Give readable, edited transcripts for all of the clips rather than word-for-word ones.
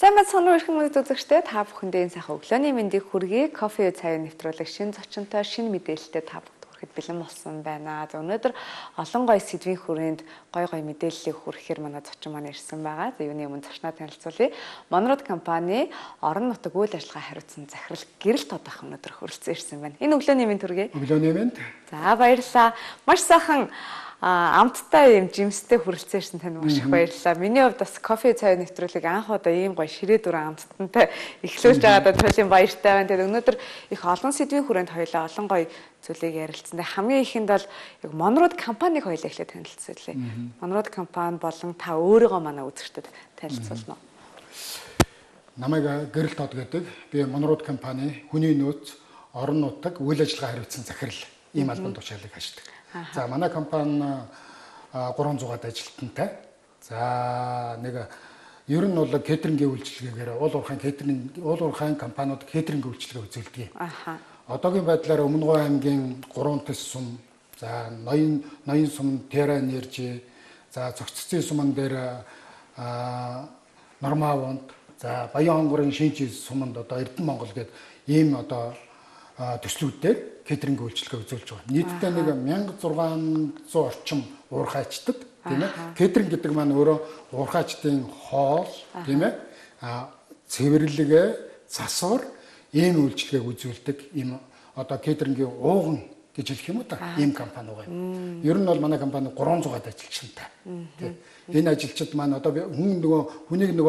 Сайн бацхан өрхөн мөд үзэгчтэй та бүхэндээ энэ сайхан өглөөний мэндийг хүргэе. Кофе цайг нэвтрүүлэг шинэ зочинтой шинэ мэдээлэлтэй та бүхэнд хүрэхэд бэлэн болсон байна. За өнөөдөр олон гоё сэдвийн хүрээнд гоё мэдээллийг хүргэхээр манай зочин маань ирсэн байгаа. За юуны өмнө зочноо танилцуулъя. Монрод компани орон нутаг үйл ажиллагаа хариуцсан захирал Гэрэл Тодорх өнөөдөр хүрэлцэн ирсэн байна. Энэ өглөөний мэнд хүргэе. Өглөөний мэнд. За баярлалаа. Маш сайхан амттай юм жимстэй хүрэлцээрсэн танд маш их баярлалаа. Миний хувьд бас кофе цай нэвтрүүлэг анх удаа ийм гоё ширээ дүрэн амттантай эхлүүлж байгаадаа туйлын баяртай байна. Тэгээд өнөөдөр их олон сэдвийн хүрээнд хоёлаа олон гоё зүйлийг ярилцсан. Хамгийн ихэнд бол яг Монрод компаниг хоёлаа эхлээд танилцуулъя. Монрод компани болон та өөрийгөө манай үзэгчдэд танилцуулна уу? Намайг Гэрэл Тод гэдэг. Би Монрод компани хүний нөөц орон нутаг үйл ажиллагаа хариуцсан захирал ийм албан тушаалыг хашдаг. За манай компани 300-аад ажилтнтай. За ер нь бол кейтерингийн үйлчилгээгээр уул уурхайн компаниуд кейтерингийн үйлчилгээ үзүүлдэг. Одоогийн байдлаар Өмнөговь аймгийн 3 төс сум, за ноён сум Terra Energy, за цогццын суман дээр Нормавонд, за Баян хонгорын Шинжи суманд одоо Эрдэнэ Монгол гэдэг ийм одоо төслүүдээр кейтеринг үйлчилгээ үзүүлж байгаа. Нийтдээ 1600 орчим уурхайчдад тийм ээ. Кейтеринг гэдэг маань өөрөө уурхайчдын хоол тийм ээ. Цэвэрлэгээ, засвар ийм үйлчилгээг үзүүлдэг ийм одоо кейтерингийн ууган гэж хэлэх юм уу та ийм компани байгаа юм. Ер нь бол манай компани 300-аад ажилчтай. Тийм. Энэ ажилчид маань одоо хүнийг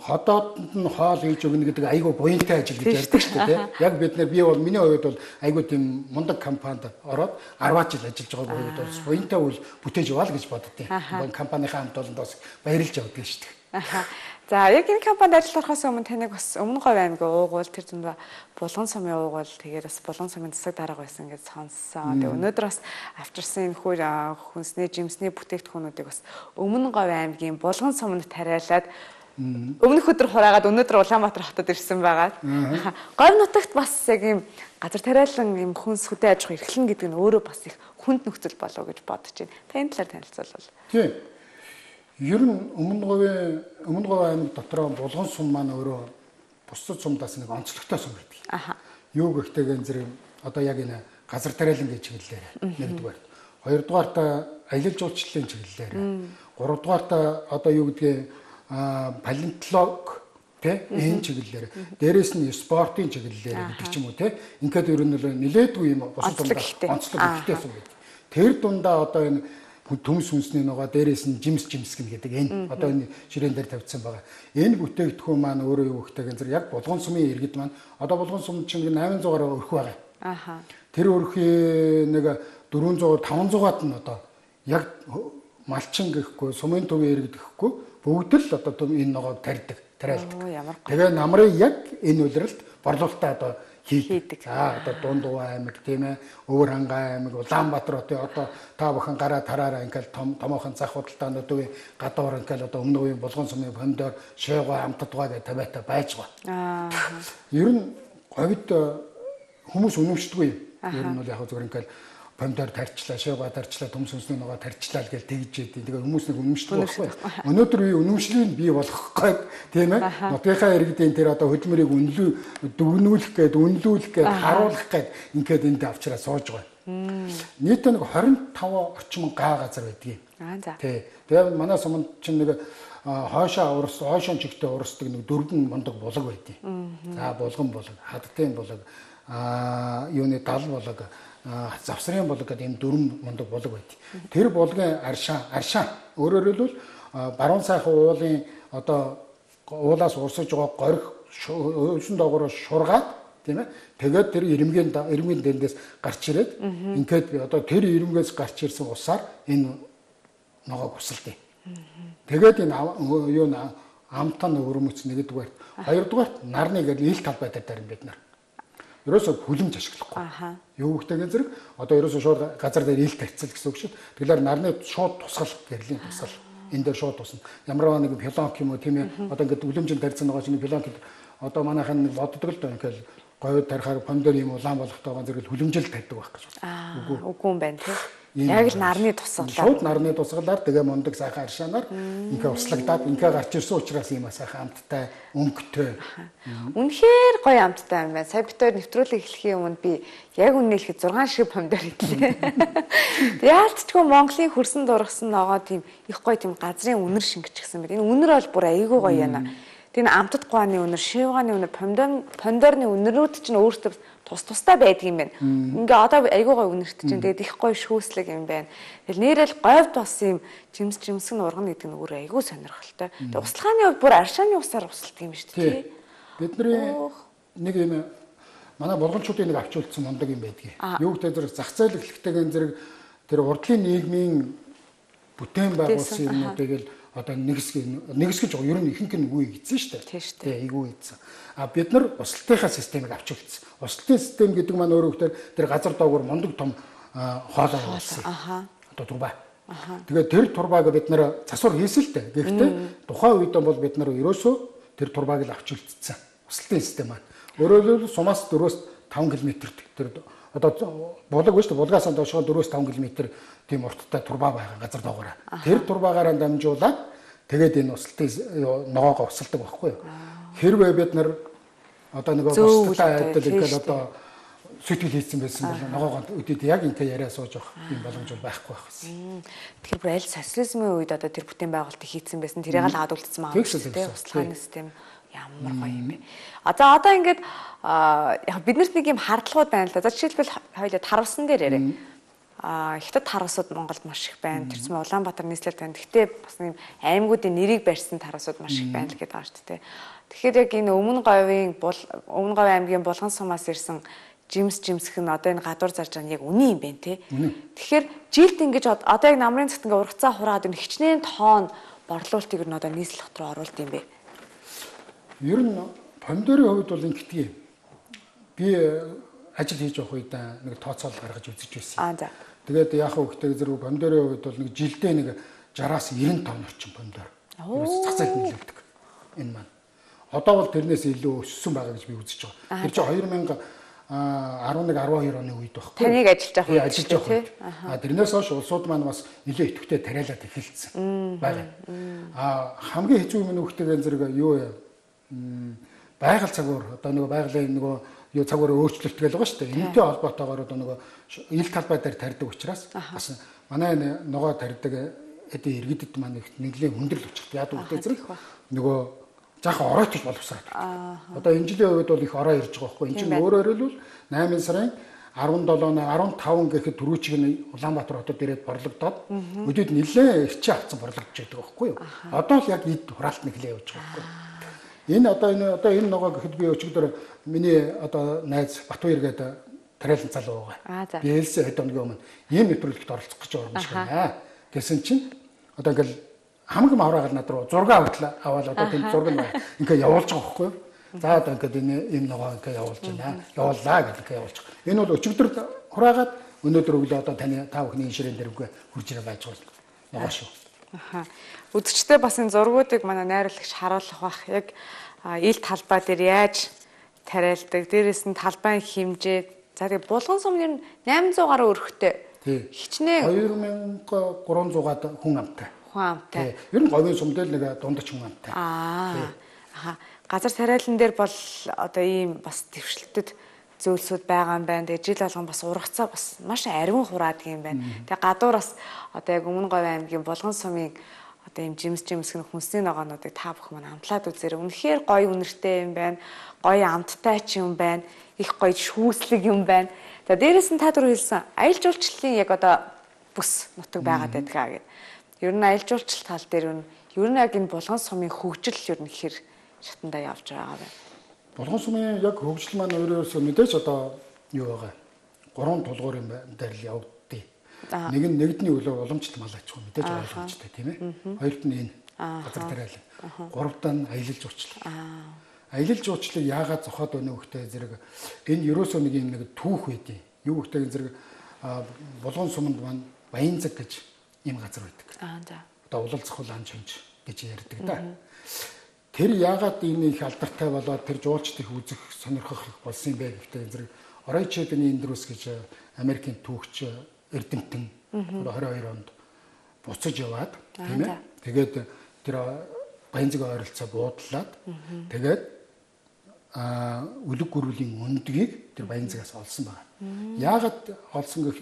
ходоодд нь хоол хийж өгнө гэдэг айгүй буянтай ажил гэж ярьдаг шүү дээ. Яг бид нар миний хувьд бол айгүй тийм мундаг компанид ороод 10 жил ажиллаж байгаа хувьд бол буянтай үйл бүтээж яваа л гэж боддیں۔ Компанийнхаа хамт олондоос баярлж явдаг шүү дээ. За яг энэ компанид ажиллахаас өмнө таныг бас Өмнөговь аймгийн уугуул тэр зүүн Булган сумын уугуул тэгээд бас Булган сумын засаг дарга байсан гэж сонссон. Тэгээд өнөөдөр бас авчирсан энэ хүнсний жимсний бүтээгдэхүүнүүдийг бас Өмнөговь аймгийн Булган суманд тариалаад өмнөх өдөр хураагаад өнөөдөр Улаанбаатар хотод ирсэн байгаа. Говь нутагт бас яг ийм газар тариалан ийм хүнс хөдөө аж ахуй эрхлэн гэдэг нь өөрөө бас их хүнд нөхцөл болов гэж бодож байна. Та энэ талаар танилцуулбал. Тийм. Ер нь Өмнөговь аймаг дотор Булган сум маань өөрөө бусад сумдаас нэг онцлогтой сум байдаг. Юу гэхтэйг зэрэг одоо яг энэ газар тариалангийн чиглэлээр нэгдүгээр. Хоёрдугаарт аялал жуулчлалын чиглэлээр. Гуравдугаарт одоо юу гэдгийг палеонтолог энэ чиглэлээр. Дээрээс нь спортын чиглэлээр гэдэг ч юм уу ингээд ер нь нэлээдгүй юм бусад сумдаа онцлог ихтэй сум байдаг. Тэр дундаа одоо энэ төмс хүнсний ногоо дээрээс нь жимс гин гэдэг энэ одоо энэ ширээн дээр тавьсан байгаа. Энэ бүтээгдэхүүн маань өөрөө юу гэхтэйг зэрэг яг Булган сумын иргэд маань одоо Булган сум чинь 800-аар өрх байгаа. Тэр өрхийн 400 500-аад нь одоо яг малчин гэхгүй сумын төвийн иргэд гэхгүй бүгд л одоо энэ ногоог тариалдаг. Тэгээ намрыг яг энэ үйлрэлд борлуулалтаа одоо хийдэг. За одоо Дундгов аймаг тийм ээ, Өвөр хангай аймаг, Улаанбаатар хотын одоо та бүхэн гараа тараараа ингээл томоохон зах худалдаануудын гадуур ингээл одоо Өмнөговийн Булган сумын фондоор шойгоо амтдгаа гэж тавиатай байж байгаа. Ер нь говьд хүмүүс үнэмшдэггүй юм. Ер нь бол яг зүгээр ингээл фондоор тарчлаа, шойгоо тарчлаа, төмс хүнсний ногоо тарчлаа гэж тэгж идэв. Тэгээ хүмүүс нэг үнэмшдэг байхгүй. Өнөөдөр би үнэмшлийг бий болгох гээд тийм ээ. Нутгийнхаа иргэдийн тэр одоо хөдөлмөрийг дүгнүүлэх гээд, үнэлүүлэх гээд, харуулах гээд ингээд энд авчраа сууж байгаа. Нийтдээ 25 орчим га газар байдгийг. Тэгээ манай суманд чинь хойшоо чигтээ урсдаг 4 мундаг булаг байдгийг. За булган булаг, хадтын булаг, юуны дал булаг, завсрын булаг гэдэг ийм 4 мундаг булаг байдаг. Тэр булгын аршаа өөрөөр хэлбэл баруун сайхан уулын одоо уулаас урсаж байгаа горих өвсөн доогоор шургаад тийм ээ. Тэгээд тэр ирмгийн дэндээс гарч ирээд ингээд одоо тэр ирмгээс гарч ирсэн усаар энэ ногоог усалдیں۔ Тэгээд энэ юу амтан өрмөц нэгдүгээр. Хоёрдугаарт нарны гэдэг ил тал байдаг даа бид нар. Ерөөсөө хүлэмж ашиглахгүй. Юу гэхтэйг зэрэг одоо ерөөсөө шууд газар дээр ил тарцал гэсэн үг шүү. Тэгэхээр нарны шууд тусгал гэрлийн тусгал энэ дээр шууд тусна. Ямар нэг пилонк юм уу тийм ээ. Одоо ингээд үлэмжин тарьсан байгаа чинь пилонк одоо манайхан боддог л доо ингээд говьд тарихаар фондор юм улаан болохтойгоо зэрэг хүлэмжил тавьдаг байх гэж. Үгүй юм байна тийм. Яг л нарны тусгалаар. Шууд нарны тусгалаар тэгээ мундаг сайхан аршаанаар ингээ услагдаад ингээ гарч ирсэн учраас ийм сайхан амттай, өнгөтэй. Үнэхээр гоё амттай юм байна. Сая бид хоёр нэвтрүүлэг эхлэхийн өмнө би яг үнэ хэлэхэд 6 шиг помидор идлээ. Яалтчгүй Монголын хөрсөн дургасан ногоо тийм их гоё тийм газрын үнэр шингэчихсэн байт. Энэ үнэр бол бүр айгүй гоё яана. Тэр амтд гуаны үнэр, шивгааны үнэр, помидорны үнэрүүд чинь өөртөө тустай байдаг юм байна. Ингээ одоо айгүй гоё үнэрт чинь тэгээд их гоё шүүслэг юм байна. Тэгэл нэрэл говьд бас юм жимсгэн ургана гэдэг нь өөр айгүй сонирхолтой. Тэгээд услахааны хувьд бүр аршааны усаар усалдаг юм шүү дээ. Бидний нэг юм манай болгончуудын нэг авчулсан мундаг юм байдгийг. Юу гэдэг зэрэг зах зээл эхлэхтэйгэн зэрэг тэр урдлын нийгмийн бүтээн байгуулсан юмнуудыг л одоо нэгсгэж ер нь ихэнх нь үгүй гэсэн шүү дээ. Тий, эйгүү ийдсэн. Бид нар услалтынхаа системийг авчулсан. Услалтын систем гэдэг маань өөрөөр хэлбэл тэр газар доогуур мундаг том хоолой болсон. Одоо турба. Тэгээд тэр турбааг бид нар засвар хийсэн л дээ. Гэхдээ тухайн үед бол бид нар ерөөсөө тэр турбааг л авчулцсан. Услалтын систем маань. Өөрөөр хэлбэл сумаас 4-5 км тэр одоо булаг биш үү? Булгаас доошоо 4-5 км тийм урттай турба байгаа газар доогоороо. Тэр турбаагаараа дамжуулаад тэгээд энэ услалтын ногоогоо усалдаг байхгүй юу? Хэрвээ бид нар одоо нэг бусдаа айдал ингээд одоо сэтгэл хийсэн байсан бол ногоогоо өдөд яг ингээ яриа сууж явах юм боломж бол байхгүй байсан. Тэгэхээр бүр аль социализмын үед одоо тэр бүтээн байгуулалтыг хийцэн байсан тэрийг л хадгалсан маа тийм услахааны систем ямар гоё юм бэ. Одоо ингээд яг биднэрт нэг юм хардлагууд байна л да. За жишээлбэл хоёулаа тарвсан дээр яриа. Хятад тарвсууд Монголд маш их байна. Тэр чинь Улаанбаатар нийслэл байна. Гэхдээ бас нэг аймагуудын нэрийг барьсан тарвсууд маш их байна л гэдэг байгаа шүү дээ. Тэгэхээр яг энэ Өмнө Говь аймгийн Булган сумаас ирсэн жимсэх нь одоо энэ гадуур зарж байгаа нь яг үнэн юм байна те. Тэгэхээр жилд ингэж одоо яг намрын цагт ингээ ургацаа хураад энэ хичнээн тоон борлуулалтыг нь одоо нийслэл руу оруулд юм бэ. Ер нь помидорын хувьд бол ингэдэг юм. Би ажил хийж явах үед нэг тооцоол гаргаж үзэж байсан. За. Тэгээд яах вэ гэхээр зэрэг помидорын хувьд бол нэг жилдээ нэг 60-аас 90 тонн орчим помидор. Зах зээлд нөлөөлдөг. Энэ маань. Одоо бол тэрнээс илүү өссөн байгаа гэж би үзэж байгаа. Тэр чинь 2011-12 оны үед байхгүй. Таныг ажиллаж явах үед. Тэрнээс хойш улсууд маань бас нэлээд идэвхтэй тариалаад эхэлсэн байна. Хамгийн хэцүү юм нь үхтэйгэн зэрэг юу вэ? Байгаль цагуур одоо нэг байгалийн нөгөө юу цагуур өөрчлөлт гэж байгаа шүү дээ. Энэтэй холбоотойгоор одоо нөгөө ил талбай дээр тарьдаг учраас бас манай ногоо тарьдаг эдийн иргэдэд маань нэглээ хүндрэл өчгт яадаг үгтэй зэрэг нөгөө жаахан оройтож боловсраад. Одоо энэ жилийн үед бол их ороо ирж байгаа байхгүй. Энд чинь өөрөөр хэлбэл 8 сарын 17-15 гэхэд түрүүчиг нь Улаанбаатар хотод ирээд борлогдоод өдөөд нэлээ ирчээ авсан борлогдож байдаг байхгүй юу. Одоо л яг эд хураалт нэглээ явж байгаа байхгүй. Энэ ногоо гэхэд би өчигдөр миний одоо найз Батбаяр гэдэг тариалан залуу байгаа. Би ээлсэн хэд өдрийн өмнө ийм нэвтрүүлэгт оролцох гэж байгаа юм шиг байна. Гэсэн чинь одоо ингээл хамгийн мавраагаар над руу зураг аваад одоо тийм зураг нь ингээ явуулж байгаа байхгүй юу. За одоо ингээд энэ ногоо ингээ явуулж байна. Явууллаа гэдэг явуулж байгаа. Энэ бол өчигдөр хураагаад өнөөдөр өглөө одоо та бүхний инширэн дээр үгүй хурж ирээ байж байгаа ногоо шүү. Үзэгчтэй бас энэ зургуудыг манай найруулагч харуулах бах. Яг ил талбай дээр яаж тариалдаг, дээрээс нь талбайн хэмжээ. За тэгээ Булган сум нь 800 гаруй өрхтэй. Хичнээн 2300-аад хүн амтай. Амтай. Ер нь говийн сумдэл нэг дундаж хүн амтай. Газар тариалан дээр бол одоо ийм бас дэвшилтэд зөвлөсүүд байгаа юм байна. Тэгээ жил болгон бас ургацаа бас маш ариун хураадаг юм байна. Тэгээ гадуураас одоо яг Өмнө Говь аймгийн Булган сумын одоо ийм жимсгэн хүнсний ногоонуудыг та бүхэн маань амтлаад үзээрэй. Үнэхээр гоё үнэртэй юм байна. Гоё амттай ч юм байна. Их гоё шүүслэг юм байна. За дээрээс нь та түрүү хэлсэн аялал жуулчлалын яг одоо бүс нутаг байгаад байдгаа гэдэг. Ер нь аялал жуулчлал тал дээр ер нь яг энэ Булган сумын хөгжил ер нь хэр шатандаа явж байгаа байна. Булган сумын яг хөгжил маань өөрөөсөө мэдээж одоо юу байгаа. 3 тулгуур юм дээр л явагддээ. Нэг нь нэгдний үлээ уламжлалт мал аж ахуй мэдээж ойлгомжтой тийм ээ. Хоёрт нь энэ газар тариалан. Гуравт нь аялал жуулчлал. Аялал жуулчлалыг яагаад зохиод өгнө гэхтэй зэрэг энэ ерөөсөө нэг юм нэг түүх байдیں۔ Юу гэхтэй зэрэг Булган суманд маань Баянзаг гэж ийм газар байдаг. Одоо улал зохиол ан шинж гэж ярьдаг да. Тэр яагаад энэ их алдартай болоод тэр жуулчдыг үзэх сонирхох болсон юм бэ гэхтэй зэрэг Оройчедны Эндрус гэж Америкийн түүхч эрдэмтэн 22 онд буцаж яваад тийм ээ. Тэгээд тэр Баянзаг ойролцоо буудлаад тэгээд үлэг гүрвлийн өндгийг тэр Баянзагаас олсон байна. Яагаад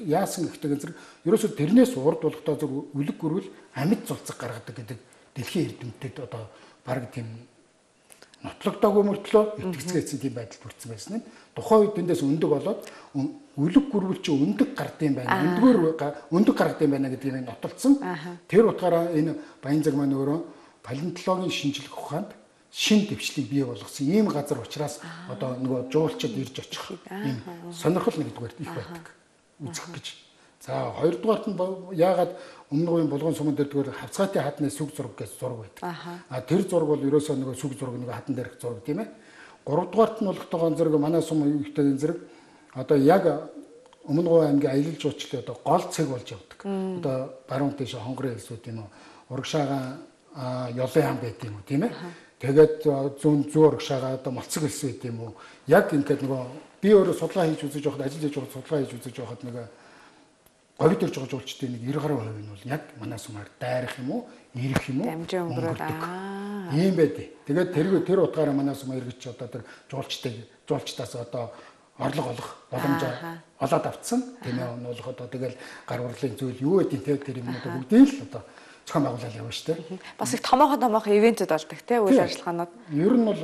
яасан гэхдээ зэрэг ерөөсөө тэрнээс урд болохдоо зөв үлэг гүрвэл амьд зулцаг гаргадаг гэдэг дэлхийн эрдэмтэд одоо баг тийм нотлогдоогүй мөртлөө итгэцгээсэн тийм байдал бүрдсэн байсан юм. Тухайн үед эндээс өндөг болоод үлэг гүрвэл чи өндөг гардыг байна. Өндөг гаргадаг юм байна гэдгийг нотолцсон. Тэр утгаараа энэ Баянзаг маань өөрөө палеонтологийн шинжилгээ ухаанд шин дэвшлийг бий болгосон ийм газар учраас одоо нөгөө жуулчид ирж очих ийм сонирхол нэгдүгээр их байдаг үзэх гэж. За хоёрдугаарт нь яагаад өмнө говийн булган суман дээр тэгвэл хавцгаатын хадны сүг зураг гэж зураг байдаг. Тэр зураг бол ерөөсөө нөгөө сүг зураг нөгөө хатан дээрх зураг тийм ээ. Гуравдугаарт нь болохтойгоо зэрэг манай сум үеийн зэрэг одоо яг өмнө говийн аймгийн аялал жуулчлалын одоо гол цэг болж явдаг. Одоо баруун тийш хонгорын хэлсүүд юм уу урагшаага ёлын хам байт юм уу тийм ээ. Тэгээд зүүн урагшаага одоо молцог хэлс байт юм уу. Яг ингээд нөгөө би өөрөө судалгаа хийж үзэж явахад ажил хийж явахад судалгаа хийж үзэж явахад нөгөө говь төрж байгаа жуулчдын нэг 90 гаруй хувь нь бол яг манай сумаар дайрах юм уу, ирэх юм уу дамжин өнгөрөөд ийм байдیں۔ Тэгээд тэр утгаараа манай сум иргэж одоо тэр жуулчдаас одоо орлого олох боломж олоод авцсан. Тийм ээ нь бол одоо тэгэл гар урлын зүйл юу гэдэг те тэр юм одоо бүгдийг л одоо зохион байгуулалт явна шүү дээ. Бас их томоохон ивэнтүүд болдог те үйл ажиллагаанууд. Ер нь бол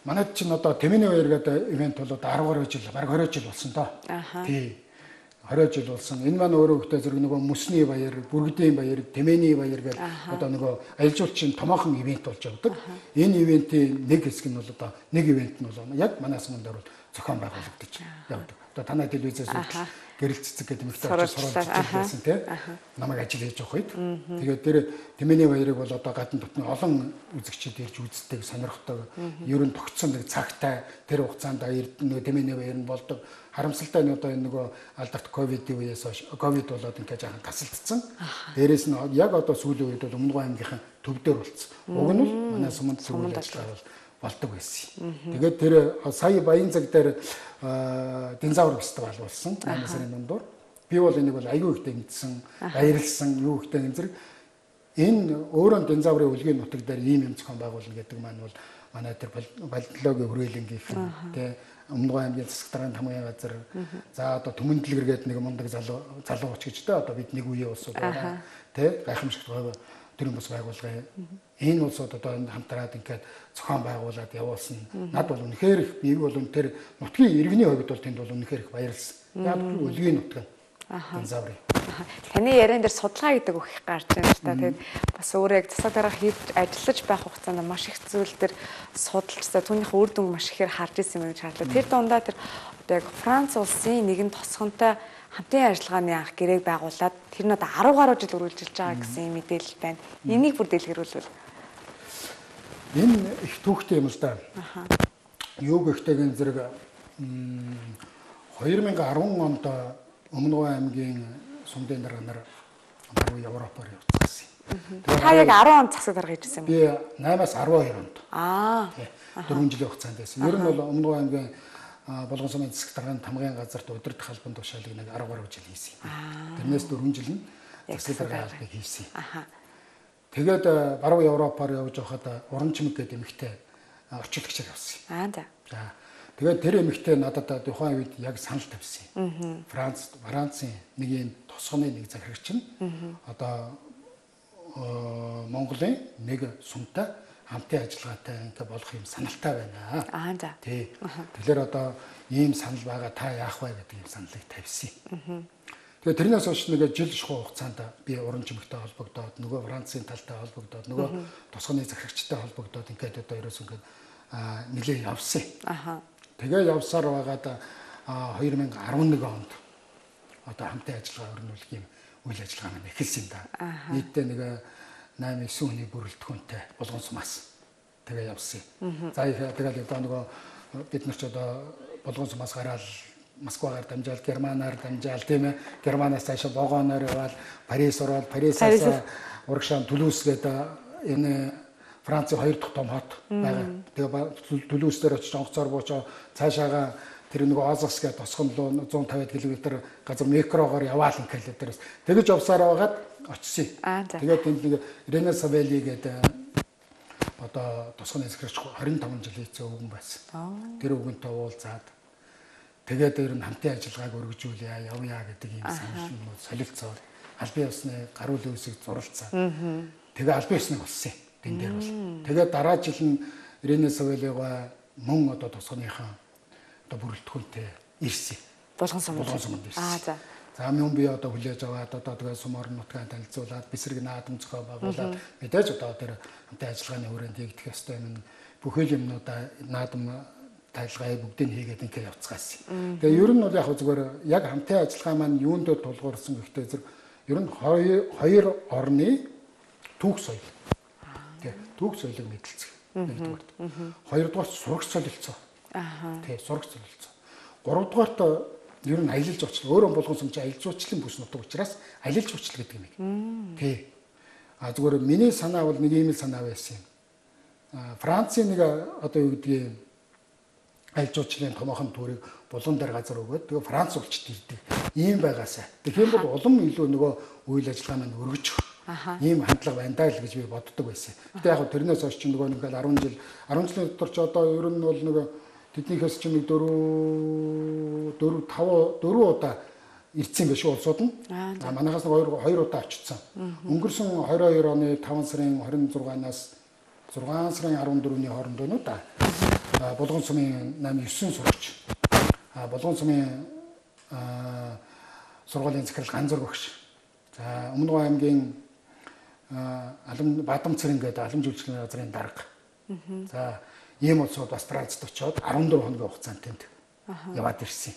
манайд чинь одоо Тэмээний баяр гэдэг ивент бол одоо 10 гаруй жил, бараг 20 жил болсон доо. Тий. 20 жил болсон. Энэ маань өөрөө ихтэй зэрэг нөгөө Мөсний баяр, Бүргэдийн баяр, Тэмээний баяр гэдэг одоо нөгөө аялал жуулчин томоохон ивент болж явдаг. Энэ ивентийн нэг хэсэг нь бол одоо нэг ивент нь бол яг манай суманд орол зохион байгуулагдаж явдаг. Одоо танай телевизээс гэрэл цэцэг гэдэг мэт сурвалж байсан тийм намайг ажил хийж явах үед. Тэгээд тэр Тэмээний баярыг бол одоо гадны дотны олон үзэгчид ирж үздэг, сонирхдог. Ер нь тогтсон нэг цагтай тэр хугацаанд нөгөө Тэмээний баяр нь болдог. Харамсалтай нь одоо энэ нөгөө алдарт ковидын үеэс хойш ковид болоод ингээд жаахан гасалдсан. Дээрээс нь яг одоо сүүлийн үед бол Өмнөг аймгийнхан төв дээр болцсон. Уг нь бол манай суманд суманд ажиллагаа болдог байсан. Тэгээд тэр сая Баянзаг дээр динозавр фестивал болсон 8 сарын дундуур. Би бол энийг бол аюу ихтэй мэдсэн, баярлсан, юу ихтэй энэ зэрэг энэ өөрөө динозаврын үлгийн нутаг дээр ийм юм зохион байгуулна гэдэг маань бол манай тэр палеонтологийн хүрээлэнгийнхэн тий Өмнөг аймгийн засаг даргын хамгийн газар за одоо Түмэндлэгэр гэдэг нэг мундаг залууч гэж дээ одоо бид нэг үеийн улсууд байна тий гайхамшигт төрийн бас байгуулгын энэ улсууд одоо хамтраад ингээд зохион байгуулад явуулсан. Над бол үнэхээр их би бол үнэхээр нутгийн иргэний хувьд бол тэнд бол үнэхээр их баярлсан. Яг үлгийн нутаг. Динозаврын. Таны яриан дээр судалгаа гэдэг үг их гарч байна л та. Тэгээд бас өөрөө яг засаг дарга хийж ажиллаж байх хугацаанд маш их зүйл дээр судалжсаа түүнийхээ үр дүн маш ихээр харж ирсэн юм гэж харлаа. Тэр дундаа тэр одоо яг Франц улсын нэгэн тосгонтой хамтын ажиллагааны анх гэрээг байгуулад тэр нь одоо 10 гаруй жил үргэлжилж байгаа гэсэн мэдээлэл байна. Энийг бүр дэлгэрүүлвэл энэ их түүхтэй юм л да. Юу гэхтэйгэн зэрэг 2010 онд Өмнөг аймгийн сумдын дарга нар баруун Европоор явцсан. Та яг 10 онд засаг дарга хийжсэн юм би 8-аас 12 онд. 4 жилийн хугацаанд байсан. Ер нь бол Өмнөг аймгийн болгон сумын засаг дарганы тамгын газарт удирдах албан тушаалыг нэг 10 гаруй жил хийсэн. Тэрнээс 4 жил нь засаг дарганы албыг хийсэн. Тэгээд баруун Европоор явж байхад Урамчимэг гэдэг эмэгтэй орчуулагчаар явсан. За. Тэгээд тэр эмэгтэй надад тухайн үед яг санал тавьсан. Францын нэг юм тосгоны нэг захирагч нь одоо Монголын нэг сумтай хамтын ажиллагаатай ингээ болох юм саналтай байна. За. Тий. Тэгэхээр одоо ийм санал байгаа та яах вэ гэдэг юм саналыг тавьсан. Тэгээд тэрнээс хойш нэг жил шахуу хугацаанд би Урамчимэгтэй холбогдоод нөгөө Францын талтай холбогдоод нөгөө тосгоны захирагчтай холбогдоод ингээд одоо ерөөс ингээд нэлээд явсан. Тэгээ явсаар байгаад 2011 онд одоо хамтын ажиллагаа өрнүүлэх юм үйл ажиллагаа маань эхэлсэн да. Нийтдээ нэг 8-9 хүний бүрэлдэхүүнтэй болгон сумаас тэгээ явсан. За тэгээд одоо нөгөө бид нар ч одоо болгон сумаас гараад Москвагаар дамжаал, Германаар дамжаал тийм ээ. Германаас цаашаа вагоноор яваад Парис ороод Парисаас урагшаан Түлүүс гэдэг энэ Францын 2 дахь том хот байгаа. Тэгээ Түлүүс дээр очиж онгоцоор буучаа цаашаага тэр нөгөө Озос гэдэг тосгон руу 150 км газар микрогоор яваал ингээл дээрээс тэгэж явсаар байгаад очсон. Тэгээд тэнд нэг Рена Савели гэдэг одоо тосгоны эсгэрч 25 жилийн эцэг өвгөн байсан. Тэр өвгөнтэй уулзаад тэгээд ер нь хамтын ажиллагааг өргөжүүлье явъя гэдэг ийм саналнууд солилцоод албан ёсны гаруул үүсийг зурлцаа. Тэгээ албан ёсныг болсон юм. Тэн дээр бол. Тэгээд дараа жил нь Рена Савелига мөн одоо тосгоныхаа одоо бүрэлдэхүүнтэй ирсэн. Булган сумд ирсэн. За мөн би одоо хүлээж аваад одоо тэгээ сумор нутгаа танилцуулаад бисрэг наадам зохио байгуулад мэдээж одоо тэр хамтын ажиллагааны хүрээнд хийгдэх ёстой юм бүхэл юмнуудаа наадам тайлгаа бүгдийг хийгээд ингээ явцгаасан. Тэгээ ер нь бол яг зүгээр яг хамтын ажиллагаа маань юунд тулгуурсан гэхдээ зэрэг ер нь хоёр орны түүх соёл. Тэгээ түүх соёлыг мэдлцэх. Нэгдүгээр. Хоёрдугаар сурагч солилцоо. Тэгээ сурагч солилцоо. Гуравдугаарт ер нь аялал жуулчлал өөрөө булган сумч аялал жуулчлалын бүс нутаг учраас аялал жуулчлал гэдэг юм. Тий. Зүгээр миний санаа бол нэг ийм л санаа байсан юм. Францын нэг одоо юу гэдгийг аялал жуулчлалын томоохон төрийг булган дээр газар өгөөд тэгээ Франц улчд ирдэг. Ийм байгаасаа. Тэгэхээр бол улам илүү нөгөө үйл ажиллагаа маань өргөжих. Ийм хандлага байна даа л гэж би боддог байсан. Гэтэ яг тэрнээс хойш чинь нөгөө ингээл 10 жилийн дотор ч одоо ер нь бол нөгөө тэднийхээс чинь нэг 4 удаа ирсэн байх шүү улсууд нь. Манайхаас нэг 2 удаа очсон. Өнгөрсөн 22 оны 5 сарын 26-наас 6 сарын 14-ний хооронд байна уу да. Булган сумын 8-9 сурагч. Булган сумын сургуулийн захирал Ганзур багш. За Өмнөг аймгийн Бадам цэрэн гэдэг алам жүжигчлийн газрын дарга. За ийм улсууд бас Францд очиод 14 хоногийн хугацаанд тэнд яваад ирсэн.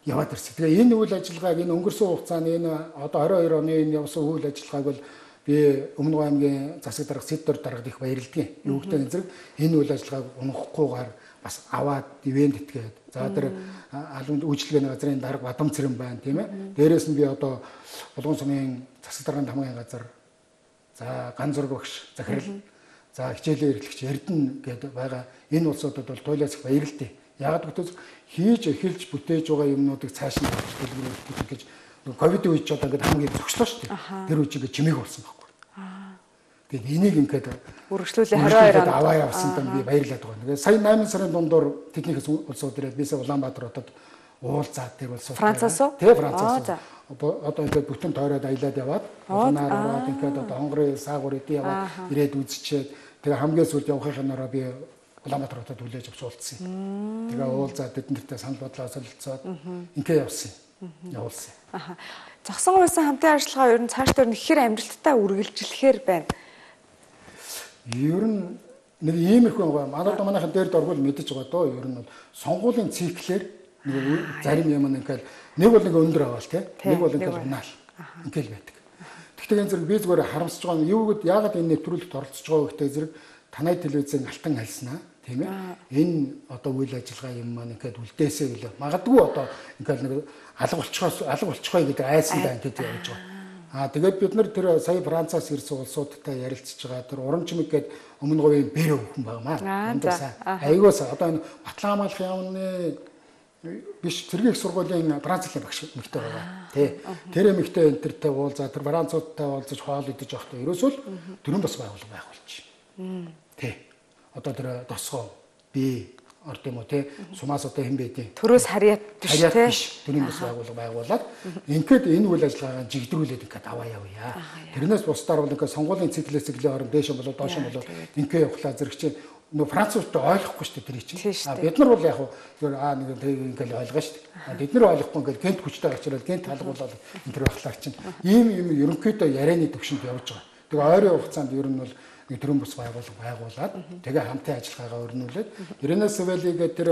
Яваад ирсэн. Тэгээ энэ үйл ажиллагааг энэ өнгөрсөн хугацаанд энэ одоо 22 оны энэ явсан үйл ажиллагааг бол би Өмнөг аймгийн засаг дарга Сэддор даргад их баярлалдیں۔ Юу гэдэг нь зэрэг энэ үйл ажиллагааг унахгүйгээр бас аваад ивент итгээд. За тэр алам үйлчлэгээний газрын дарга Бадам цэрэн байна тийм ээ. Дээрээс нь би одоо Булган сумын засаг даргын хамгааллын газар за Ганзур багш захирал за хичээлийн эрхлэгч Эрдэнэ гэдэг байгаа энэ улсуудад бол туйлаас их баярлалтай. Яг гэвэл хийж эхэлж бүтээж байгаа юмнуудыг цааш нь дэлгэрүүлэх гэж ковидын үед ч одоо ингээд хамгийн зогслоо шүү дээ. Тэр үеийг чимээг болсон байхгүй. Тэгээд энийг ингээд үргэлжлүүлээ 22 онд аваа явсан тань би баярлаад байгаа. Тэгээд сая 8 сарын дундуур тэднийхээс улсууд ирээд бисээ Улаанбаатар хотод уулзаад тэр улсууд Францаас уу? Тэ Францаас. Одоо ингээд бүтэн тойроод аялаад яваад улаанаар аваад ингээд одоо хонгорын саагур эдээ яваад ирээд үзчихээд тэгээ хамгийн сүүлд явахын нараа би Улаанбаатар хотод хүлээж авч уулзсан. Тэгээ уулзаад тэднэртэй санал бодлоо солилцоод ингээд явсан. Явуулсан. Зогсон улсын хамтын ажиллагаа ер нь цаашдаа нэхэр амжилттай үргэлжлэхээр байна. Ер нь нэг ийм их байгаа. Манайхан дээр дөрвөл мэдэж байгаа доо. Ер нь бол сонгуулийн циклээр нэг зарим юм ингээд нэг бол нэг өндөр аваал тий. Нэг бол ингээд унаал. Ингээл байдаг. Тэгтээ энэ зэрэг би зүгээр харамсаж байгаа нь юу гэд яагаад энэ нэвтрүүлэгт оролцож байгаа вэ гэдэг зэрэг танай телевизэн алтан альснаа тийм ээ. Энэ одоо үйл ажиллагаа юм маань ингээд үлдээсэй гэлээ. Магадгүй одоо ингээд нэг алга болчихгоо гэдэг айсан даа гэдэг явж байгаа. Тэгээд бид нар тэр сая Францаас ирсэн улсуудтай ярилцж байгаа тэр Урамчмэг гээд өмнө говийн бэр өвхөн байгаамаа. Айгуус одоо энэ Батлан хамгаалах яамны биш цэргийн их сургуулийн Францын багш мэгтэй байгаа. Тэ. Тэр мэгтэй энтертэй уулзаа тэр Француудтай уулзаж хоол идэж явахдаа ерөөсөө дөрөв бас байгуулга байгуулчих. Тэ. Одоо тэр тосгоо би орд юм уу те сумаас одоо хэн байдیں۔ Төрөөс харьяат биш те. Төрийн бас байгуулга байгуулад ингээд энэ үйл ажиллагаагаа жигдрүүлээд ингээд аваа явъя. Тэрнээс бусдаар бол ингээд сонгуулийн циклээс циклээ орон дээш болоод доош болоод ингээд явхлаа зэрэг чи нөө Француудтай ойлгохгүй шүү дээ тэр чинь. Бид нар бол яг нэг ингээд ойлгоо шүү дээ. Бид нар ойлгохгүй ингээд гент хүчтэй гарчраад гент талгуулаад энэ төр байхлаар чинь ийм ерөнхийдөө ярианы төвшөнд явж байгаа. Тэгээ ойрын хугацаанд ер нь бол нэг төрийн бус байгуулад тэгээ хамтын ажиллагаагаа өрнүүлээд Рена Савели гэдэг тэр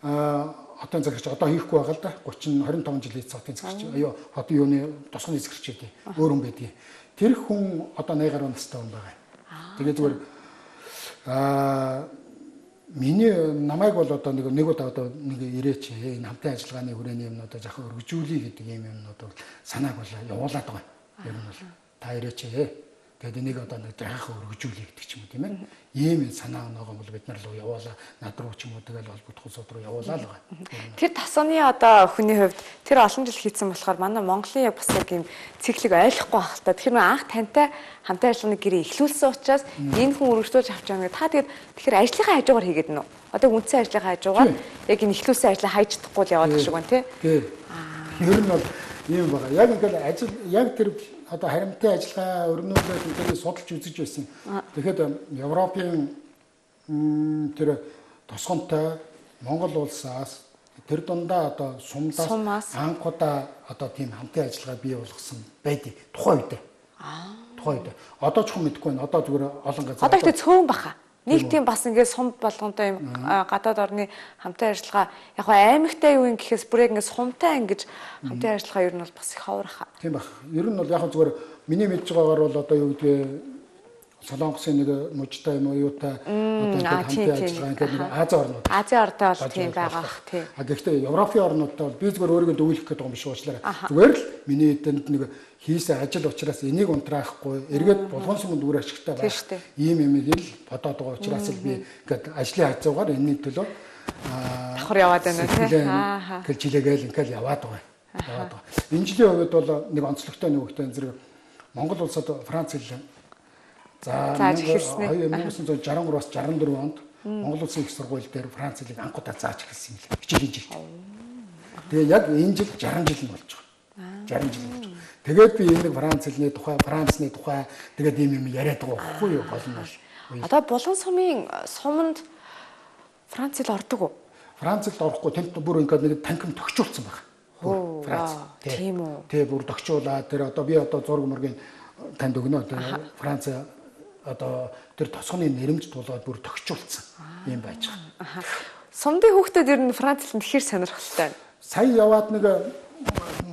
хотын захирч одоо хийхгүй байгаа л да 25 жилийн хотын захирч хотын юуны тосгоны захирч гэдэг өөр хүн байдгийг тэр хүн одоо 80 гаруй настай хүн байгаа. Тэгээ зүгээр миний намайг бол одоо нэг удаа одоо нэг ирээч энэ хамтын ажиллагааны хүрээний юмнуудаа жоохон өргөжүүлье гэдэг юм юмнууд бол санааг бол явуулаад байгаа. Ер нь бол та ирээч Тэгээд энийг одоо нэг жахаа өргөжүүлээ гэдэг ч юм уу тийм ээ. Ийм санаа оногоо бол бид нар руу явуулаа, над руу ч юм уу тэгэл холбогдох улсууд руу явуулаа л байгаа. Тэр тосгоны одоо хүний хувьд тэр олон жил хийсэн болохоор манай Монголын яг бас яг ийм циклийг ойлгохгүй байх л та. Тэгэхээр анх тантай хамтын ажиллагааны гэрээ эхлүүлсэн учраас энэ хүн өргөжлүүлж авч байгаа гэдэг. Та тэгээд тэгэхээр ажлынхаа хажуугаар хийгээд нөө. Одоо үндсэн ажлынхаа хажуугаар яг энэ эхлүүлсэн ажлаа хайж чадахгүй л яваад шиг байна тий. Ер нь бол ийм байгаа. Яг ингээл ажил яг тэр одоо харимтын ажиллагаа өрнүүлээд ингээд судалж үзэж байсан. Тэгэхэд Европын тэр тосгонтой Монгол улсаас тэр дундаа одоо сумдаас анхудаа одоо тийм хамтын ажиллагаа бий болгосон байдгийг тухайн үед. Тухайн үед. Одоо ч юм мэдэхгүй байна. Одоо зүгээр олон газар. Одоо ихтэй цөөн баха. Нэг тийм бас ингээд сум болгонтой юм гадаад орны хамтын ажиллагаа яг аймагтай юу юм гэхээс бүр яг ингээд сумтай ингэж хамтын ажиллагаа ер нь бол бас их ховрах. Тийм баг. Ер нь бол яг зүгээр миний мэдж байгаагаар бол одоо юу гэдэг Солонгосын нэг мужтай юм уу юутай одоо ингээд хамтын ажиллагаа ингээд нэг Азийн орнууд. Азийн орнтой бол тийм байгаа бах тийм. Гэхдээ Европын орнуудтай бол би зүгээр өөрийгөө дүүлэх гэдэг юм биш уучлаарай. Зүгээр л миний эдэнд нэг хийсэн ажил учраас энийг унтраахгүй эргээд булган сүмд үр ашигтай байх. Ийм юмыг л бодоод байгаа учраас л би ингээд ажлын хажуугаар энэний төлөө давхар яваад байна тийм. Тэгэл жилээгээл ингээд яваад байгаа. Энэ жилийн хувьд бол нэг онцлогтой нэг хөтөн зэрэг Монгол улсад Франц хэл за 1963-аас 64 онд Монгол улсын их сургууль дээр Франц хэлийг анхудаа зааж эхэлсэн юм л хичээлийн жил. Тэгээ яг энэ жил 60 жил нь болж байгаа. 60 жил болж байгаа. Тэгээд би энэ Франц хэлний тухай, Францны тухай тэгээд ийм юм яриад байгаа байхгүй юу гол нь бол. Одоо булан сумын суманд Франц хэл ордог уу? Франц хэлд орохгүй тэнд бүр ингээд нэг танхим төгчүүлсэн байна. Франц. Тийм үү. Тэгээ бүр төгчүүлээд тэр одоо би одоо зураг мөргийн танд өгнө. Франц одоо тэр тосгоны нэрмж тулаад бүр төгчүүлсэн юм байж байгаа. Сумдын хүүхдүүд ер нь Франц хэлэнд тэгэхээр сонирхолтой. Сая яваад нэг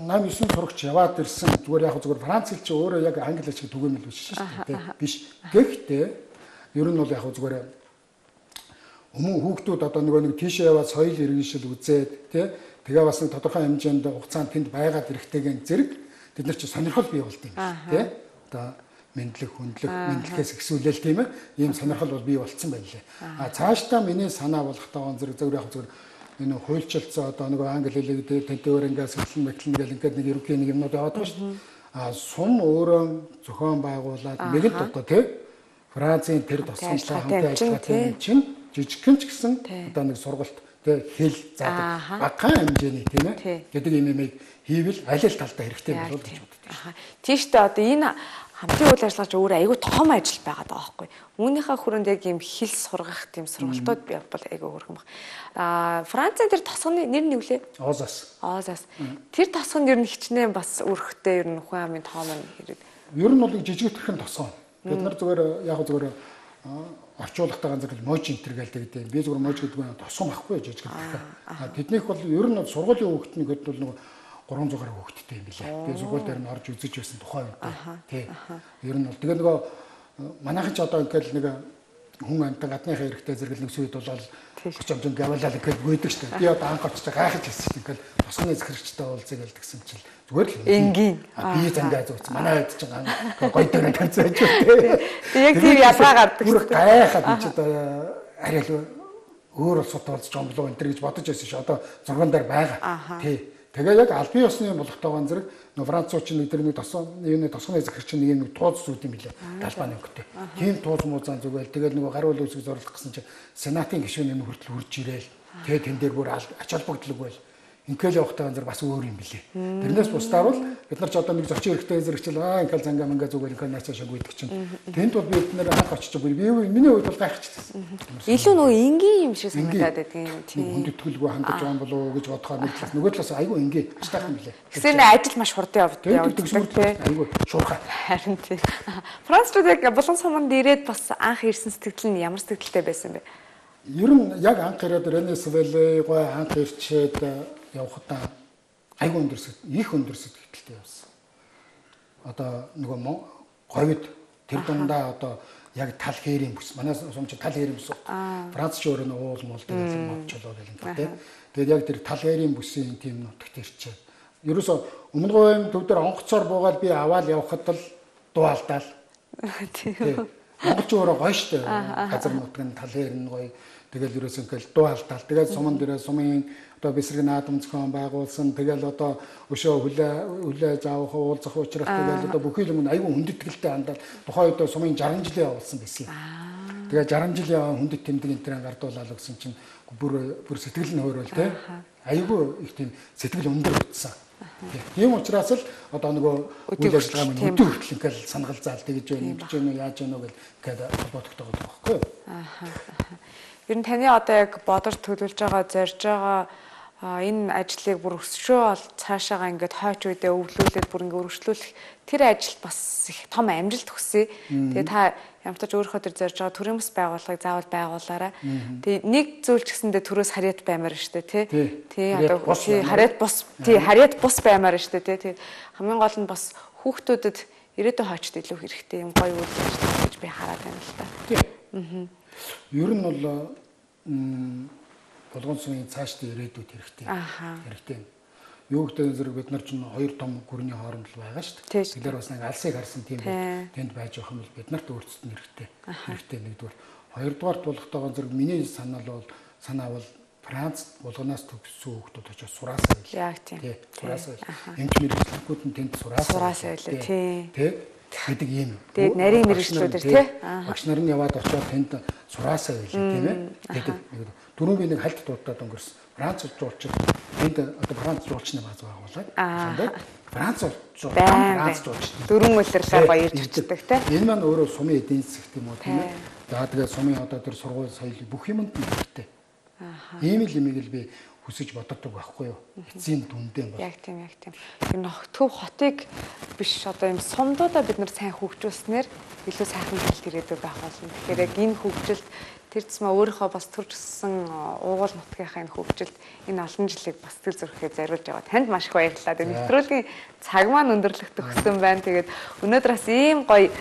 8-9 сурагч яваад ирсэн. Зүгээр яг зүгээр Франц хэл чи өөрөө яг англи хэл шиг түгээмэл биш шүү дээ. Биш. Гэхдээ ер нь бол яг зүгээр өмнө хүүхдүүд одоо нэг тийшээ яваад соёл иргэншил үзээд тэгээ бас нэг тодорхой хэмжээнд хугацаанд тэнд байгаад ирэхтэйгэн зэрэг бид нар чи сонирхол бий болд юм тий. Одоо мэдлэг, хүндлэг, мэдлэгээс ихсүүлэл тийм ээ. Ийм сонирхол бол бий болцсон байлээ. Цаашдаа миний санаа болох тааван зэрэг зөвөр яг зүгээр энэ хуульчилсан одоо нэг англи хэлийг тэнтэйгээр ингээс хэлэн мэтлэн гэл ингээд нэг ерөнхий нэг юмнууд яваад байгаа шүү дээ. Сум өөрөө зохион байгуулад нэгэнт одоо тий Францын тэр тосгонтой хамтын ажиллагаатай чинь жижигхэн ч гэсэн одоо нэг сургалт тий хэл заадаг багахан хэмжээний тийм ээ гэдэг юмыг хийвэл аль аль талдаа хэрэгтэй болов гэж боддог. Тийштэй одоо энэ хамтын үйл ажиллагаач өөрөө айгүй том ажил байгаад байгаа байхгүй. Үүнийхээ хүрээнд яг юм хэл сургах тийм сургалтууд бол айгүй хөрхөн баг. Францын тэр тосгоны нэр нь юу лээ? Озас. Тэр тосгонд ер нь хичнээн бас өрхтэй ер нь хүн амын тоом нь хэрэг. Ер нь бол жижигхэн тосгон. Бид нар зүгээр яг зүгээр орчуулгатай ганц л мож энтер гэлдэг. Би зүгээр мож гэдэг нь тосгон байхгүй жижигхэн. Тэднийх бол ер нь сургуулийн хүүхдний хэд бол нэг 300 гаруй хүүхэдтэй юм билээ. Би сургууль дээр нь орж үзэж байсан тухайн үед. Тий. Ер нь бол тэгээ нөгөө манайхан ч одоо ингээл нэг хүн амтан гадныхаа эрэхтэй зэрэг нэг сүйд болол 30 гавлал ингээл гүйдэг шүү дээ. Би одоо анх очиж гайхаж хэлсэн чинь ингээл тосгоны захирагчтай уулзъя гэл тэгсэн чинь зүгээр л энгийн би зангаа зүүц. Манай хэд чинь гоё дээр таньцсан байж үү. Яг тийм ялгаа гардаг. Бүр гайхаад энэ ч одоо арай л өөр улсууд уулзч юм болов энэ гэж бодож байсан ш. Одоо зурган дээр байгаа. Тий. Тэгээ яг албан ёсны болохтойгоо зэрэг Францууч нэг тэр нэг юуны тосгоны захирагч нэг юм тууз зүйд юм билээ. Талбай өнгөтэй. Тийм тууз муузаан зүгэл тэгэл нэг гаруул үсэг зорлох гэсэн чинь сенатын гишүүн юм хүртэл хурж ирээл. Тэгээ тэн дээр бүр ач холбогдлог байл. Ингээл явахтаа зэрэг бас өөр юм билээ. Тэрнээс бусдаар бол бид нар ч одоо нэг зочин хэрэгтэй зэрэгчл ингээл зангаа мангаа зүгэл ингээл наачаа шагүйдэг чинь. Тэнд бол бид нар анх очиж би миний хувьд бол гайхчихсан. Илүү нөгөө энгийн юм шиг санагдаад байдаг юм тийм. Хүндэтгэлгүй хандаж байгаа болов уу гэж бодохоор нэг талаас нөгөө талаас айгүй энгийн ажтайхан билээ. Гэсэр ажил маш хурдан явдаг. Айгүй шуурхай. Харин тийм. Францууд яг булан суманд ирээд бас анх ирсэн сэтгэл нь ямар сэтгэлтэй байсан бэ? Ер нь яг анх ирээд Ренесвэлээ гой анх ирчээд явхдаа айгүй их өндөр сэтгэлтэй явсан. Одоо нөгөө говид тэр дундаа одоо яг тал хээрийн бүс. Манай сумч тал хээрийн бүс. Франц ч өөрөө уул мол гэдэг мовчлоо гэх юм тийм. Тэгээд яг тэр тал хээрийн бүсийн тийм нутагт ирчээ. Ерөөсө өмнө говийн төв дээр онгоцоор буугаад би аваад явхад л дуу алдаал. Тийм. Монголч өөрөө гоё штэ. Газар нутгийн тал дээр нь гоё. Тэгэл ерөөс ингээл дуу алдаал. Тэгээд суман дээрээ сумын одоо бэсрэг наадам зохион байгуулсан. Тэгэл одоо өшөө хүлээж авах уулзах учрах тэгэл одоо бүхий юм аюу хүндэтгэлтэй хандаад тухайн үед сумын 60 жилийн явуулсан байсан. Тэгээд 60 жилийн хүндэт тэмдэг энтрийн гардуулаад гэсэн чинь бүр сэтгэл нь хөөрөл тий. Аюу их тийм сэтгэл өндөр утсан. Тийм учраас л одоо нөгөө үйл ажиллагаа минь өдөө хүртэл ингээл санагал заал тэгж байна, ингэж байна уу, яаж байна уу гэхэд холбогддог байгаа байхгүй юу? Ер нь таны одоо яг бодож төлөвлөж байгаа, зорж байгаа энэ ажлыг бүр өсшөө бол цаашаага ингээд хойч үедээ өвлүүлээд бүр ингээд өргөжлүүлэх тэр ажилд бас их том амжилт хүсье. Тэгээ та ямар ч өөрийнхөө тэр зорж байгаа төрийн бас байгууллагыг заавал байгуулаарай. Тэгээ нэг зүйл ч гэсэндээ төрөөс харьяат баймаар штэ тий. Тий одоо харьяат бус баймаар штэ тий. Тэгээ хамгийн гол нь бас хүүхдүүдэд ирээдүйн хойчд илүү хэрэгтэй юм гоё үйл ажиллагаа гэж би хараад байна л та. Тий. Ер нь бол болгон сумын цаашдын ирээдүйд хэрэгтэй. Хэрэгтэй. Юу гэдэг зэрэг бид нар чинь хоёр том гүрний хооронд л байгаа шүү дээ. Тэгэхээр бас нэг алсыг харсан тийм тэнд байж байгаа юм бол бид нарт өөрсдөд нь хэрэгтэй. Хэрэгтэй нэгдүгээр. Хоёрдугаарт болохтойгоо зэрэг миний санаа бол Францд булганаас төгссөн хүүхдүүд очиж сураасаа байл. Яг тийм. Сураасаа байл. Эмч мэрэгчлэгүүд нь тэнд сураасаа байл. Тий. Гэдэг юм. Тэгээд нарийн мэрэгчлүүд тий. Багш нар нь яваад очиод тэнд сураасаа байл тийм ээ. Гэдэг. Дөрөв би нэг хальт дуудаад өнгөрсөн. Франц жуулчид энд одоо Франц жуулчны бааз байгуулаад Франц жуулчид дөрвөн улирлаар баярж очдог те. Энэ маань өөрөө сумын эдийн засаг тийм үү тийм ээ. За тэгээ сумын одоо тэр сургууль соёл бүх юмд хэрэгтэй. Ийм л имийг л би хүсэж боддог байхгүй юу? Эцсийн дүндээ бол. Яг тийм. Энэ төв хотыг биш одоо юм сумдуудаа бид нар сайн хөгжүүлснээр илүү сайхан хэл ирээдүй байх болно. Тэгэхээр яг энэ хөгжилд тэр зэсмээ өөрийнхөө бас төржсөн уугуул нутгийнхаа энэ хөгжилд энэ олон жилийг бас сэтгэл зүрэхээ зориулж байгаа. Танд маш их баярлалаа. Тэгээ нэвтрүүлгийн цаг маань өндөрлөх төгссөн байна. Тэгээд өнөөдөр бас ийм гоё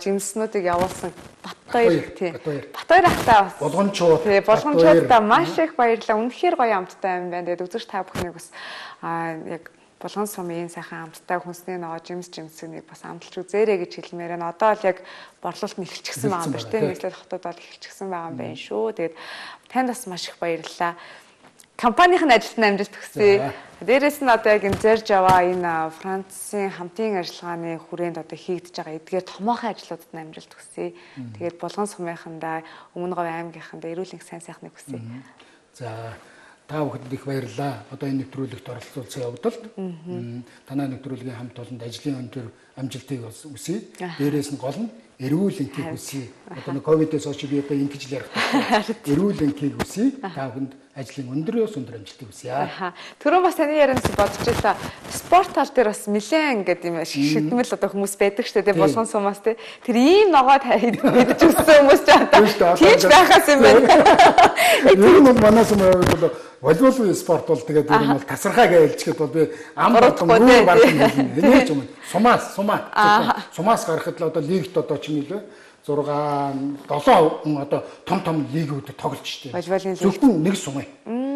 жимснүүдийг явуулсан Батбаяр тийм. Батбаяр ахтаа бас болгончууд. Тийм, болгончуудаа маш их баярлалаа. Үнэхээр гоё амттай юм байна. Тэгээд үзэгч та бүхнийг бас яг Булган сумын сайхан амттай хүнсний ногоо жимсийг бас амталж үзээрэй гэж хэлмээр байна. Одоо л яг борлуулалт нь эхэлчихсэн байгаа юм байна тийм. Нийслэл хотод бол эхэлчихсэн байгаа юм байна шүү. Тэгээд танд бас маш их баярлалаа. Компанийн ажилд нь амжилт хүсье. Дээрээс нь одоо яг энэ зорж аваа энэ Францын хамтын ажиллагааны хүрээнд одоо хийгдэж байгаа эдгээр томоохон ажлуудад нь амжилт хүсье. Тэгээд Булган сумынхандаа Өмнө Говь аймгийнхандаа эрүүл мэндийн сайн сайхныг хүсье. За та бүхэнд их баярлалаа. Одоо энэ нэвтрүүлэгт оролцуулсан явдалд танай нэвтрүүлгийн хамт олонд ажлын өндөр амжилтыг хүсье. Дээрээс нь гол нь эрүүл энхийг хүсье. Одоо нэг ковидээс хойш би одоо ингэж л ярих байна. Эрүүл энхийг хүсье. Та бүхэнд ажлын өндрөөс өндөр амжилтыг хүсье. Түрүүн бас таны ярианаас бодож байлаа. Спорт тал дээр бас нэлээд ингээд юм шигдмэл одоо хүмүүс байдаг шүү дээ. Булган сумаас тий. Тэр ийм ногоо идэж өссөн хүмүүс ч одоо тийч байхаас юм байна. Ер нь бол манай сумын хувьд волейбол спорт бол тэгээд ер нь бол тасархаа гэж хэлчихэд бол би ам болон мөр барсан юм юм. Сумаас гарахад л одоо лигт одоо чинь нэлээ 6 7 хүн одоо том лигүүд тоглож штеп. Зөвхөн нэг сумын.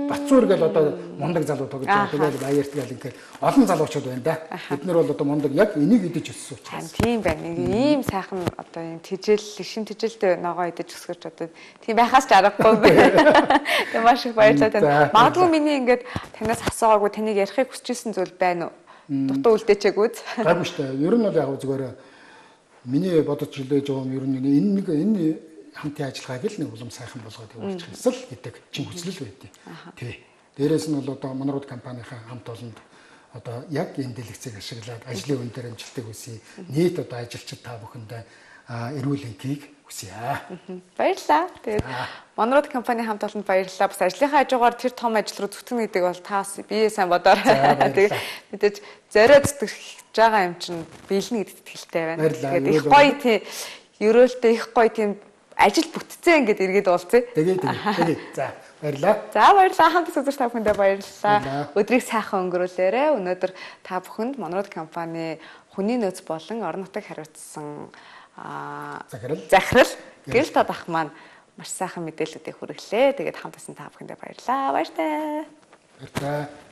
Бацуур гэл одоо мундаг залуу тоглож байгаа. Тэгээд баярт гэл ингээд олон залуучууд байна да. Бид нар бол одоо мундаг яг энийг идэж өссөн учраас. Тийм байна. Ийм сайхан одоо юм шин тэжээлтэй ногоо идэж өсгөж одоо тийм байхаас ч аргагүй байна. Тэгээд маш их баярлалаа тань. Магадгүй миний ингээд танаас асуугаагүй таныг ярихыг хүсчихсэн зүйл байна уу? Дутуу үлдээчээгүүд. Гайгүй штэ. Ер нь бол яг зүгээр миний бодож хүлээж байгаа юм ер нь энэ хамтын ажиллагааг л нэг улам сайхан болгоод явуулчих ёсол гэдэг чин хүсэл байдیں۔ Тий. Дээрээс нь бол одоо Монрод компанийн хамт олонд одоо яг энэ дэлгэцийг ашиглаад ажлын үн дээр амжилтыг хүсье. Нийт одоо ажилчид та бүхэндээ эрүүл энхийг хүсье. Баярлалаа. Тэгээд Монрод компанийн хамт олонд баярлалаа. Бас ажлынхаа хажуугаар тэр том ажил руу зүтгэнэ гэдэг бол та бас бие сайн бодоорой. Тэгээд мэдээж зориод зүтгэж байгаа юм чинь биелнэ гэдэгт итгэлтэй байна. Тэгээд их гоё тийм ерөөлтэй их гоё тийм ажил бүтцээ ингээд эргээд уулзъя. Тэгээд. За баярлалаа. За баярлалаа. Хамт үзэж та бүхэндээ баярлалаа. Өдрийг сайхан өнгөрүүлээрэй. Өнөөдөр та бүхэнд Монрод компани хүний нөөц болон орон нутаг хариуцсан захирал гэрэл тод ах маань маш сайхан мэдээллүүдийг хүргэлээ. Тэгээд хамт байсан та бүхэндээ баярлалаа. Баяртай. Баярлалаа.